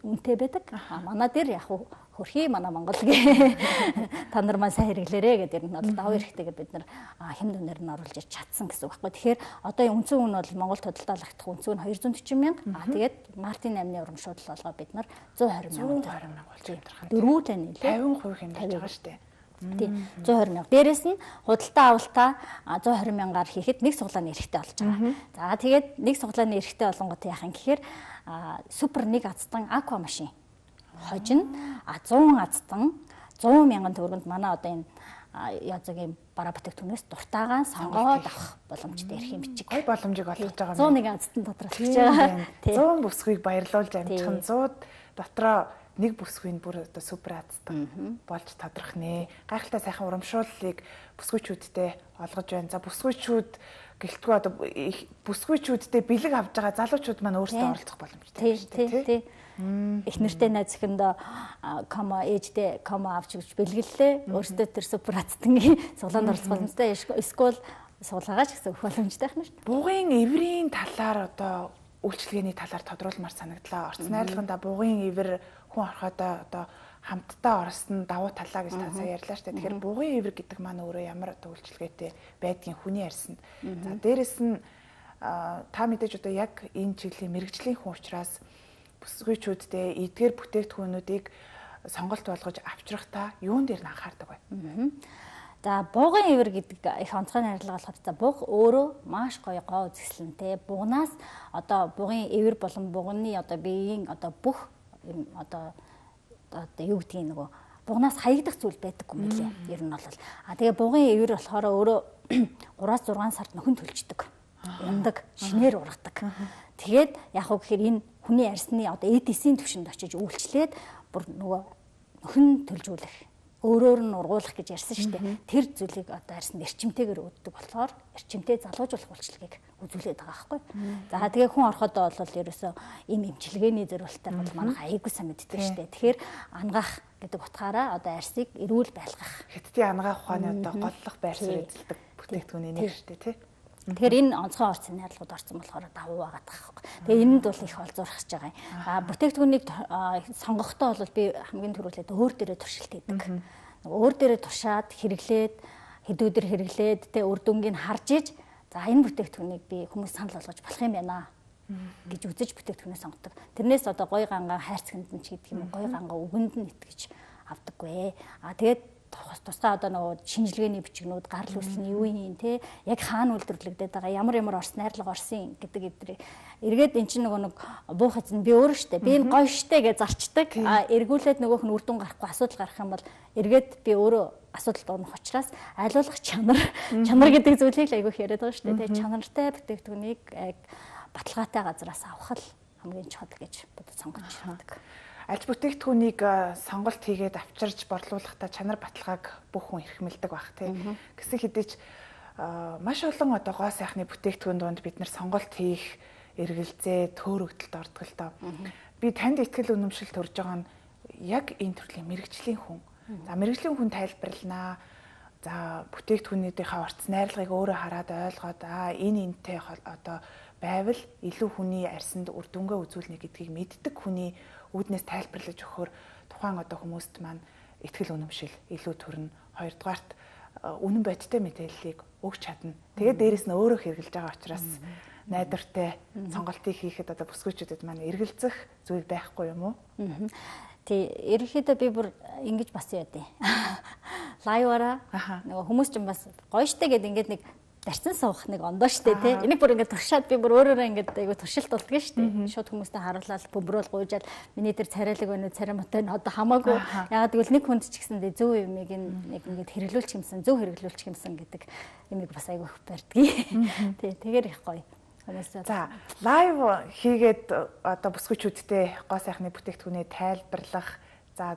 үнэтэй байдаг. А манай дээр яг хөрхий манай Монголгийн та нар маань сайн хэрэглээрэй гэдэг нь бол даваа эрэхтэйгээр бид нар хэм дүнээр нь оруулж чадсан гэсэн үг байхгүй. Тэгэхээр одоо үндсэн үн бол Монголд худалдаалагдах үндсэн үн 240 мянга. А тэгээд мартин 8-ны урамшуул болгоо бид нар 120 мянга болж амьдрах. 4 нэлээ 50% хэмжиж байгаа шүү дээ. Тийм 120 мянга. Дээрээс нь худалдаа авалтаа 120 мянгаар хийхэд нэг суглааны эрэхтэй болж байгаа. За тэгээд нэг суглааны эрэхтэй болонгот яах юм гэхээр супер нэг азтан аква машин хожино 100 азтан 100 мянган төгрөгөнд манай одоо энэ язгийн бараа бүтээгдэхүүнээс дуртайгаа сонгоод авах боломжтой эрх юм бичиг. Гой боломжийг олгож байгаа юм. 101 азтан доторх гэж байгаа. 100 бүсгүйг баярлуулж амжих нь 100 дотроо нэг бүсгүйн бүр одоо супер азтан болж тодрох нэ. Гайхалтай сайхан урамшууллыг бүсгүйчүүдтэй олгож байна. За бүсгүйчүүд гэлтгүй одоо бүсгүйчүүдтэй бэлэг авж байгаа залуучууд маань өөрсдөө оролцох боломжтой шүү дээ. Их нэртэй найз зөвхөндөө кома ээжтэй кома авч өгч бэлгэллээ. Өөртөө тэр супер азтангийн суглаанд оролцох боломжтой. Эсвэл суулгаач гэсэн өгөх боломжтой байх нь шүү дээ. Бугын эврийн талаар одоо үйлчлэгээний талаар тодруулмаар санагдлаа. Орц найрлаганда бугын эвэр хүн ороходоо одоо хамтдаа орсон давуу талаа гэж та сая ярьлаа шүү дээ. Тэгэхээр бугын эвэр гэдэг маань өөрөө ямар одоо үйлчлэгээтэй байдгийн хүний арьсанд. За дээрэс нь та мэдээж одоо яг энэ чиглэлийн мэрэгжлийн хүн учраас бүсгүйчүүдтэй эдгээр бүтээгдэхүүнүүдийг сонголт болгож авчрахтаа юун дээр нь анхаардаг вэ? За бугын эвэр гэдэг их онцгой найрлага болохоор за буг өөрөө маш гоё гоо үзэсгэлэнтэй. Бугнаас одоо бугын эвэр болон бугны одоо биеийн одоо бүх одоо юу гэдгийг нөгөө бугнаас хаягдах зүйл байдаггүй мөлий. Ер нь бол тэгээ бугын эвэр болохоор өөрөө 3-6 сард нөхөн төлждөг. Ундаг, шинээр ургадаг. Тэгээд яг уу гэхээр энэ хүний арьсны одоо эдисийн түвшинд очиж үйлчлээд бүр нөгөө нөхөн төлжүүлэх өөрөөр нь ургуулах гэж ярьсан шүү дээ. Тэр зүйлийг одоо арьсанд эрчимтэйгээр өгдөг болохоор эрчимтэй залуужуулах үйлчлэгийг үзүүлээд байгаа байхгүй. За тэгээ хүн ороходоо бол ерөөсөө ийм эмчилгээний зорилттой бол манайх аягүй сайн мэддэг шүү дээ. Тэгэхээр ангаах гэдэг утгаараа одоо арьсыг эрүүл байлгах. Хятадын ангаах ухааны одоо голлох байр суурь эзэлдэг бүтээгдэхүүний нэг шүү дээ тий. Тэгэхээр энэ онцгой орц найрлагууд орсон болохоор давуу байгаад байгаа хэрэг. Тэгээ энэнд бол их олзуурхаж байгаа юм. Бүтээгдэхүүнийг сонгохдоо бол би хамгийн түрүүлээд өөр дээрээ туршилт хийдэг. Өөр дээрээ туршаад хэрэглээд хэдүүдэр хэрэглээд тэ үр дүнгийг харж иж за энэ бүтээгдэхүүнийг би хүмүүс санал болгож болох юм байна гэж үзэж бүтээгдэхүүнээ сонгодог. Тэрнээс одоо гой гангаа хайрцагт нь ч гэдэг юм гоё гангаа өгөнд нь итгэж авдаггүй. Тэгээд тусгай одоо нөгөө шинжилгээний бичгнүүд гарал үүслний юу юм те яг хаана үйлдвэрлэгдээд байгаа ямар орс найрлага орсон гэдэг эдрийг эргээд эн чинь нөгөө нэг буух эзэн би өөрөө штэ би энэ гоё штэ гэж зарчдаг эргүүлээд нөгөөх нь үр дүн гарахгүй асуудал гарах юм бол эргээд би өөрөө асуудалд орох учраас айлуулах чанар гэдэг зүйлийг л айгүйх яриад байгаа штэ те чанартай бүтээгдэхүүнийг яг баталгаатай газраас авах л хамгийн чухал гэж бодож сонгож байдаг. Аль бүтээгдэхүүнийг сонголт хийгээд авчирж борлуулахдаа чанар баталгааг бүх хүн эрхмэлдэг байх тийм. Гэсэн хэдий ч маш олон одоо гоо сайхны бүтээгдэхүүн донд бид нар сонголт хийх эргэлзээ төөрөгдөлд ордог л доо. Би танд ихтгэл үнэмшил төрж байгаа нь яг энэ төрлийн мэрэгжлийн хүн. За мэрэгжлийн хүн тайлбарланаа. За бүтээгдэхүүнийхээ орц найрлагыг өөрөө хараад ойлгоод энэ энэтэй одоо байвал илүү хүний арьсанд үр дүнгээ үзүүлнэ гэдгийг мэддэг хүний үүднээс тайлбарлаж өгөхөөр тухайн одоо хүмүүст маань ихтгэл үнэмшил илүү төрнө. Хоёрдугаарт үнэн бодиттой мэдээллийг өгч чадна. Тэгээд дээрэс нь өөрөө хэрэгжилж байгаа учраас найдвартай сонголтыг хийхэд одоо бүсгүйчүүдэд маань эргэлзэх зүйл байхгүй юм уу? Тий, ерөнхийдөө би бүр ингэж бас яа дээ. Лайваараа нөгөө хүмүүс ч бас гоё штэ гэдэг ингээд нэг дарчин суух нэг ондоо штэ тий. Энийг бүр ингээд туршаад би бүр өөрөөрөө ингээд айгу туршилт болдгоо штэ. Шууд хүмүүстэй харуулаад бөмбөрөөл гуйжаад миний дээр царайлаг байна уу, царамтай нь одоо хамаагүй. Ягаад гэвэл нэг хүнд ч гэсэндээ зөв юмыг нэг ингээд хэрэглүүлчих юмсан, зөв хэрэглүүлчих юмсан гэдэг юмыг бас айгу их барьдгийг. Тий, тэгэхээр их гоё. За, лайв хийгээд одоо бүсгүйчүүдтэй гоо сайхны бүтээгдэхүүнээ тайлбарлах. За,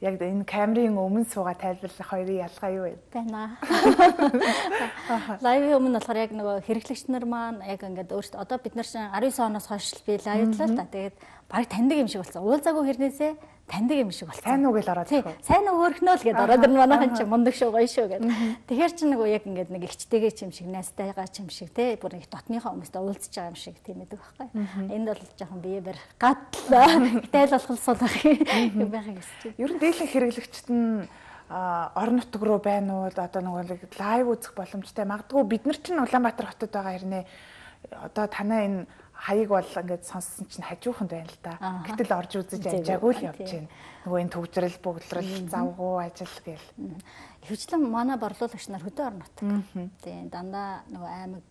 яг энэ камерын өмнө суугаа тайлбарлах хоёрын ялгаа юу вэ? Байна. Лайвын өмнө болохоор яг нөгөө хэрэглэгч нар маань яг ингээд өөртөө одоо бид нар 19 оноос хойш би лайвлаа л да. Тэгээд баг таньдаг юм шиг болсон. Уулзаагүй хэрнээсээ таньдаг юм шиг болсон. Сайн уу гэж ороод тийм. Сайн уу хөөрхнөө л гэдээ ороод ирнэ манайхан ч мундаг шүү гоё шүү гэдэг. Тэгэхээр чи нөгөө яг ингээд нэг ихчтэйгээ ч юм шиг, найстайгаа ч юм шиг те бүр их дотныхоо хүмүүстэй уулзж байгаа юм шиг тийм эдэг байхгүй. Энд бол жоохон бие барих гатлаа. Гэтэл болохсол юм байхыг хүсэж. Ер нь дийлэн хэрэглэгчд нь орон нутг руу байна уу одоо нөгөө лайв үзэх боломжтой. Магадгүй бид нар чинь Улаанбаатар хотод байгаа хэрнээ одоо танаа энэ хаяг бол ингээд сонссон чинь хажууханд байна л да. Гэтэл орж үзэж амжаагүй л явж байна. Нөгөө энэ төвжрэл, бөгдлөрөл, завгуу ажил гээл. Ихэвчлэн манай борлуулагч нар хөдөө орон нутаг. Тийм дандаа нөгөө аймаг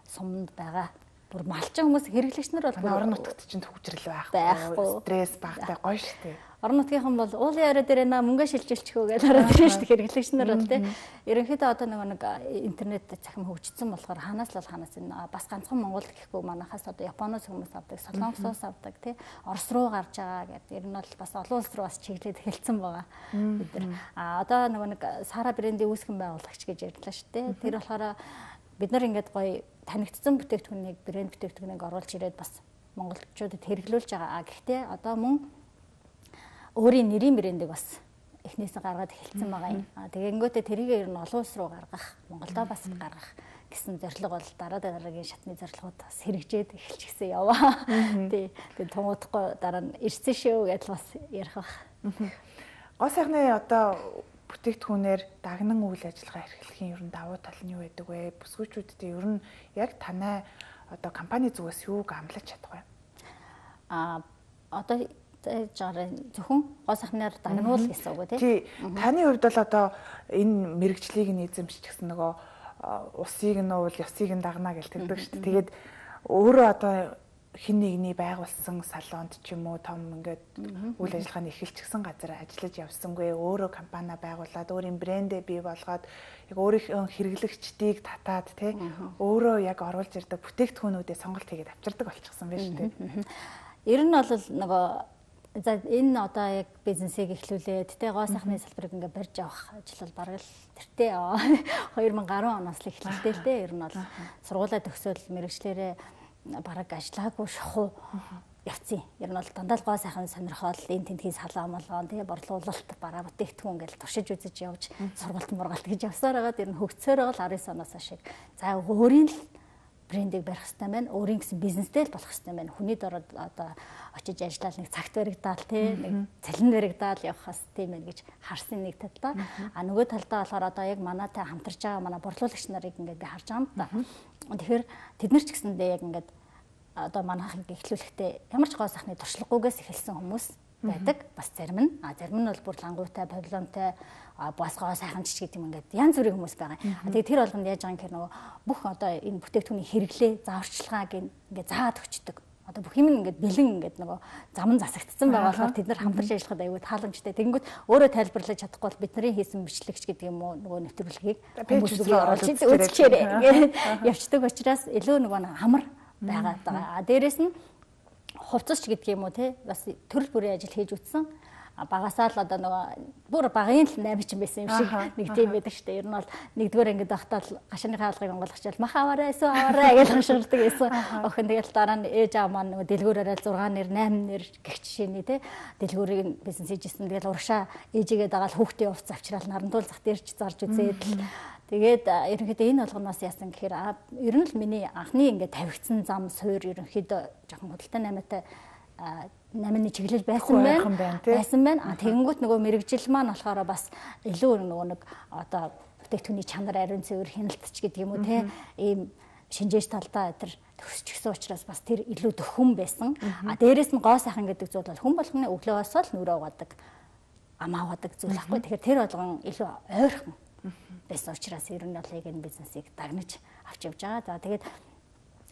суманд байгаа. Бүр малчин хүмүүс хэрэглэгч нар бол орон нутагт чинь төвжрэл байхгүй. Стресс багтай гоё шүү дээ. Орон нутгийнхан бол уулын орой дээр мөнгө шилжүүлчихөө гэж ороод ирэн шүү дээ хэрэглэгч нар бол тийм. Ерөнхийдөө одоо нэг интернет захим хөгжсөн болохоор ханаас л ханаас энэ бас ганцхан Монгол гэхгүй манайхаас одоо Японоос хүмүүс авдаг, Солонгосоос авдаг тийм. Орос руу гарч байгаа гэдэг. Ер нь бол бас олон улс руу бас чиглээд эхэлсэн байгаа бид нар. Одоо нэг Сара брендийн үүсгэн байгуулагч гэж ярьлаа шүү дээ. Тэр болохоор бид нар ингээд гоё танигдсан бүтээгдэхүүнийг брэнд бүтээгдэхүүнийг оруулж ирээд бас монголчуудад хэрэглүүлж байгаа. Гэхдээ одоо мөн өөрийн нэрийн брэндийг бас эхнээсээ гаргаад эхэлсэн байгаа юм. Тэгэнгүүтээ тэрийг ер нь олон улс руу гаргах, Монголдо бас гаргах гэсэн зорилго бол дараагийн шатны зорилгууд бас хэрэгжээд эхэлчихсэн яваа. Тэгээд тунгуудахгүй дараа нь ирсэн шүү гэдэл бас ярих баг. Гоо сайхны одоо бүтээгдэхүүнээр дагнан үйл ажиллагаа эрхлэхийн ер нь давуу тал нь юу байдаг вэ? Бүсгүйчүүдтэй ер нь яг танай одоо компани зүгээс юуг амлаж чадах вэ? Одоо зөвхөн гоо сайхнаар дагнуул гэсэн үг тий. Таны хувьд бол одоо энэ мэрэгжлийг нь эзэмшиж гэсэн нөгөө усыг нь уул, ёсыг нь дагнаа гэж тэгдэг шүү дээ. Тэгээд өөрөө одоо хин нэгний байгуулсан салонд ч юм уу том ингээд үйл ажиллагааны эхэлчихсэн газар ажиллаж явсангүй өөрөө компани байгуулад өөрийн брэндээ бий болгоод яг өөрийнхөө хэрэглэгчдийг татаад тий өөрөө яг оруулж ирдэг бүтээгдэхүүнүүдээ сонголт хийгээд авчирдаг болчихсон байна шүү дээ. Ер нь бол нөгөө за энэ одоо яг бизнесийг эхлүүлээд тэ гоо сайхны салбарыг ингээд барьж авах ажил бол бараг л тэртээ 2010 оноос л эхэлсэн л дээ. Ер нь бол сургуулаа төгсөөл мэрэгчлэрээ бараг ажиллаагүй шахуу явцیں۔ Ер нь бол дандаа гоо сайхан сонирхол энэ тентгийн салаа молгоон тэгээ борлуулалт бараа бүтээгдэхүүн гэж туршиж үзэж явж сургалт мургалт гэж явсаар байгаад ер нь хөгцөөр бол 19 оноос хойш за өөрийн л брендийг барих хэрэгтэй байна. Өөрийн гэсэн бизнестэй л болох хэрэгтэй байна. Хүний дороод одоо очиж ажиллаад нэг цагт баригдаал тий нэг цалин баригдаал явахаас тийм байх гэж харсан нэг талдаа. Нөгөө талдаа болохоор одоо яг манайтай хамтарч байгаа манай борлуулагч нарыг ингээд би харж байгаа юм да. Тэгэхээр тэд нар ч гэсэндээ яг ингээд одоо манайхыг эхлүүлэхдээ ямар ч гоо сайхны туршлагагүйгээс эхэлсэн хүмүүс байдаг. Бас зарим нь бол бүр лангуутай, павильонтай бас гоо сайханч гэдэг юм ингээд янз бүрийн хүмүүс байгаа. Тэгээ тэр болгонд яаж байгаа юм гэхээр нөгөө бүх одоо энэ бүтээгдэхүүний хэрэглээ, зааварчилгааг ингээд зааад өгчдөг. Одоо бүх юм ингээд бэлэн ингээд нөгөө зам засагдсан байгаа болохоор тэд нар хамтарч ажиллахад аюул тааламжтай. Тэгэнгүүт өөрөө тайлбарлаж чадахгүй бол бидний хийсэн бичлэгч гэдэг юм уу нөгөө нэвтрүүлгийг хүмүүсээр оруулж үзчихээрэй явцдаг учраас илүү нөгөө амар байгаа даа. Дээрээс нь хувцасч гэдэг юм уу те бас төрөл бүрийн ажил хийж үтсэн. Багасаа л одоо нөгөө бүр багын л 8 ч байсан юм шиг нэг тийм байдаг шүү дээ. Ер нь бол нэгдүгээр ангид байхдаа л гашааны хаалгыг онгойлгочвол мах аваарай эсвэл аваарай гэж хашгирдаг байсан. Охин тэгэл дараа нь ээж аав маань нөгөө дэлгүүрээрээ 6 нэр 8 нэр гэх жишээний те дэлгүүрийг бизнес хийжсэн. Тэгэл урагшаа ээжигээ дагаал хүүхдээ увц авчраал нарандуул зах дээрч зарж үзээд л тэгээд ерөнхийдөө энэ болгоноос яасан гэхээр ер нь л миний анхны ингээд тавигдсан зам суур ерөнхийдөө жоохон худалдаа 8-ны чиглэл байсан байна. Тэгэнгүүт нөгөө мэрэгжил маань болохоор бас илүү нөгөө нэг одоо бүтээгдэхүүний чанар ариун цэвэр хяналтч гэдэг юм уу те ийм шинжээч талдаа тэр төсчихсөн учраас бас тэр илүү дөхөн байсан. Дээрээс нь гоо сайхан гэдэг зүйл бол хүн болгоны өглөөс л нүрээ угаадаг, амаа угаадаг зүйл байхгүй. Тэгэхээр тэр болгон илүү ойрхон байсан учраас ер нь бол яг энэ бизнесийг дагнаж авч явж байгаа. За тэгээд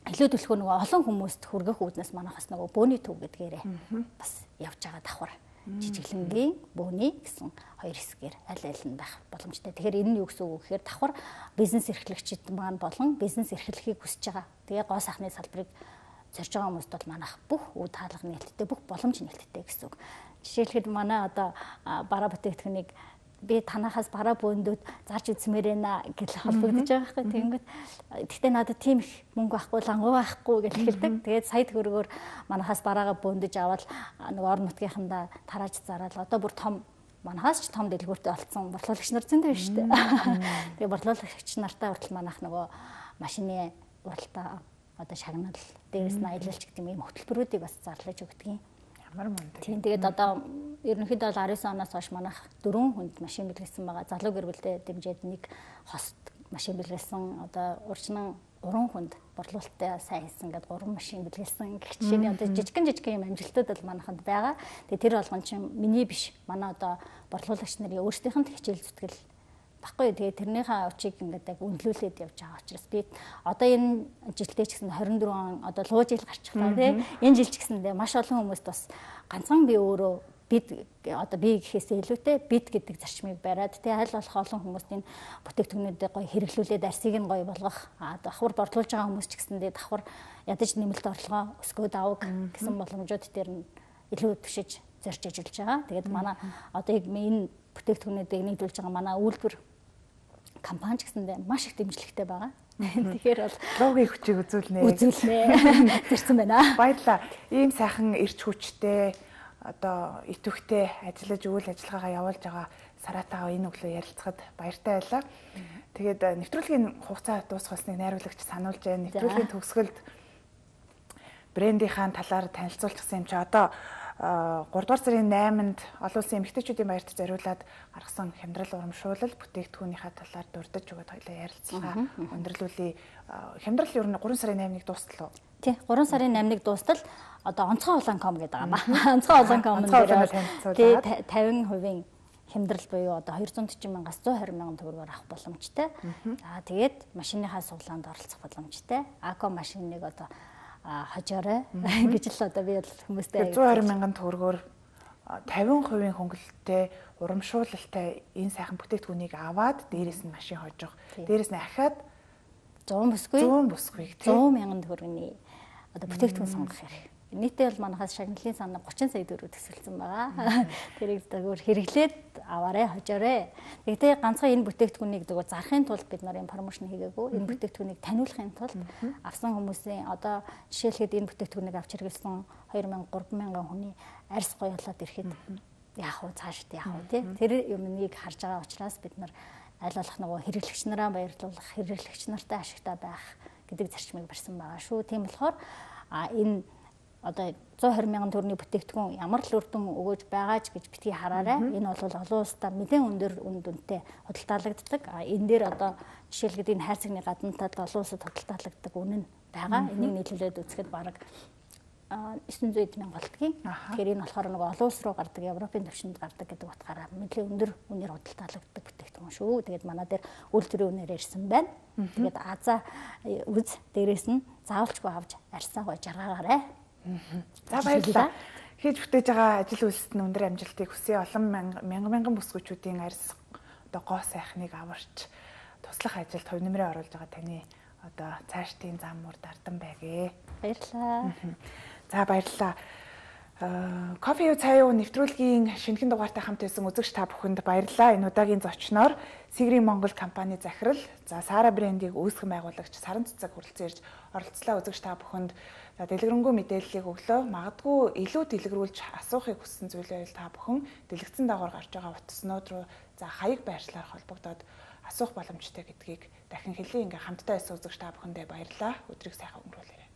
илүү төлөхөө нөгөө олон хүмүүст хүргэх үүднээс манайхаас нөгөө бөөний төв гэдгээрээ бас явж байгаа давхар. Жижиглэнгийн бөөний гэсэн хоёр хэсгээр аль аль нь байх боломжтой. Тэгэхээр энэ нь юу гэсэн үг гэхээр давхар бизнес эрхлэгчид маань болон бизнес эрхлэхийг хүсэж байгаа. Тэгээ гоо сайхны салбарыг зорж байгаа хүмүүст бол манайх бүх үд хаалга нээлттэй, бүх боломж нээлттэй гэсэн үг. Жишээлхэд манай одоо бараа бүтээгдэхүүнийг би танахаас бараа бөөндүүд зарж үзмээр байна гэж холбогдож байгаа байхгүй. Тэгэнгүүт гэхдээ надад тийм их мөнгө байхгүй, лангуу байхгүй гэж хэлдэг. Тэгээд сая төгрөгөөр манахаас бараагаа бөөндөж аваад нэг орон нутгийнхандаа тарааж зараад одоо бүр том манахаас ч том дэлгүүртэй олцсон борлуулагч нар зөндөө байна шүү дээ. Тэгээд борлуулагч нартай хүртэл манайх нөгөө машины уралдаа одоо шагнал дээрээс нь аялалч гэдэг юм хөтөлбөрүүдийг бас зарлаж өгдөг юм. Тийм тэгээд одоо ерөнхийдөө 19 оноос хойш манайх 4 хүнд машин бэлгэлсэн байгаа. Залуу гэр бүлтэй дэмжиж нэг хост машин бэлгэлсэн. Одоо урьдчилан 3 хүнд борлуулалттай сайн хийсэн гэдэг 3 машин бэлгэлсэн. Гэх жишээний одоо жижигхэн юм амжилтууд бол манайханд байгаа. Тэгээд тэр болгон чинь миний биш. Манай одоо борлуулагч нарын өөрсдийнх нь хичээл зүтгэл баггүй. Тэгээд тэрнийхээ очийг ингээд яг үнэлүүлээд явж байгаа учраас би одоо энэ жилдээ ч гэсэн 24 он одоо луу жил гарчихлаа тийм. Энэ жил ч гэсэндээ маш олон хүмүүст бас ганцхан би өөрөө бид одоо би гэхээсээ илүүтэй бид гэдэг зарчмыг бариад тий аль болох олон хүмүүст энэ бүтээгдэхүүнүүдээ гоё хэрэглүүлээд арсыг нь гоё болгох давхар борлуулж байгаа хүмүүс ч гэсэндээ давхар ядаж нэмэлт орлогоо өсгөөд авах гэсэн боломжууд дээр нь илүү түшиж зорж ажиллаж байгаа. Тэгээд манай одоо яг энэ бүтээгдэхүүнүүдийг нийлүүлж байгаа манай үйлдвэр компани ч гэсэндээ маш их дэмжлэгтэй байгаа. Тэгэхээр бол логийн хүчийг үзүүлнэ. Зэрсэн байна. Баярлалаа. Ийм сайхан эрч хүчтэй одоо итвэхтэй ажиллаж үйл ажиллагаагаа явуулж байгаа Саратагаа энэ өглөө ярилцахад баяртай байлаа. Тэгээд нэвтрүүлгийн хугацаа дуусгасныг найруулагч сануулж байна. Нэвтрүүлгийн төгсгөлд брендийнхаа талаар танилцуулчихсан юм чи одоо 3 дугаар сарын 8-нд олон улсын эмэгтэйчүүдийн баярт зориулаад гаргасан хямдрал урамшуулал бүтээгдэхүүнийхээ талаар дурдж өгöd хоёлаа ярилцлаа. Өндөрлүүлээ. Хямдрал ер нь 3 сарын 8-ыг дуустал уу? Тий, 3 сарын 8-ыг дуустал одоо онцгой улаан.com гэдэг байгаа маа. Онцгой улаан.com дээр 50% хямдрал буюу одоо 240 мянгаас 120 мянган төгрөгөөр авах боломжтой. За тэгээд машиныхаа суглаанд оролцох боломжтой. Ако машиныг одоо хожоорой гэж л одоо би хүмүүстэй 120 мянган төгрөгөөр 50% хөнгөлөлттэй урамшуулалтай энэ сайхан бүтээгдэхүүнийг аваад дээрээс нь машин хожих. Дээрээс нь ахаад 100 бүсгүйг 100 мянган төгрөгийн одоо бүтээгдэхүүн сонгох хэрэг. Нийтдээ бол манайхаас шагналын санаа 30 сая төгрөг төсөлсөн байгаа. Тэрийг зөвхөн хэрэглээд аваарэ хожоорой. Тэгтээ ганцхан энэ бүтээгдэхүүнийг зөвхөн зарахын тулд бид нар промошн хийгээгүй. Энэ бүтээгдэхүүнийг таниулахын тулд авсан хүмүүсийн одоо жишээлхэд энэ бүтээгдэхүүнийг авч хэрэглэсэн 2000 3000 хүний арьс гоёлоод ирэхэд яах вэ цаашд яах вэ тий. Тэр юмыг харж байгаа учраас бид нар аль болох нөгөө хэрэглэгч нараа баярлуулах, хэрэглэгч нартай ашигтай байх гэдэг зарчмыг барьсан байгаа шүү. Тийм болохоор энэ одоо 120 мянган төгрөгийн бүтээгдэхүүн ямар л үр дүн өгөөж байгаа ч гэж битгий хараарай. Энэ бол олон улстай нэлээд өндөр үн дүнтэй худалдаалагддаг. Энэ дээр одоо жишээлбэл энэ хайрцагны гаднатад олон улсад худалдаалагддаг үнэн байгаа. Энийг нийлүүлээд үзэхэд бараг 900 мянга болдгийн. Тэгэхээр энэ болохоор нэг олон улс руу гардаг, Европын төвшөнд гардаг гэдэг утгаараа нэлээд өндөр үнээр худалдаалагддаг бүтээгдэхүүн шүү. Тэгээд манай дээр үйлдвэрийн үнээр ирсэн байна. Тэгээд Азаа үз дээрээс нь заавалчгүй авч арьсаа гоо жаргаагаарай. За баярлалаа. Хийж бүтээж байгаа ажил үйлсэд нь өндөр амжилтыг хүсье. Олон мянган бүсгүйчүүдийн арьс одоо гоо сайхныг аварч туслах ажилд хувь нэмрээ оруулж байгаа таны одоо цаашдын зам мөр дардан байгээ. Баярлалаа. За баярлалаа. Кофе юу цай юу нэвтрүүлгийн шинэхэн дугаартай хамт байсан үзэгч та бүхэнд баярлалаа. Энэ удаагийн зочноор Сигрийн Монгол компани захирал, за Сара брендийг үүсгэн байгуулагч Саран Цэцэг хүрэлцэн ирж оролцлоо. Үзэгч та бүхэнд дэлгэрэнгүй мэдээллийг өглөө. Магадгүй илүү дэлгэрүүлж асуухыг хүссэн зүйлээ та бүхэн дэлгэцэн дагавар гарч байгаа утаснууд руу за хаяг байршлаар холбогдоод асуух боломжтой гэдгийг дахин хэлье. Ингээ хамтдаа байсан үзэгч та бүхэндээ баярлалаа. Өдрийг сайхан өнгөрүүлээрэй.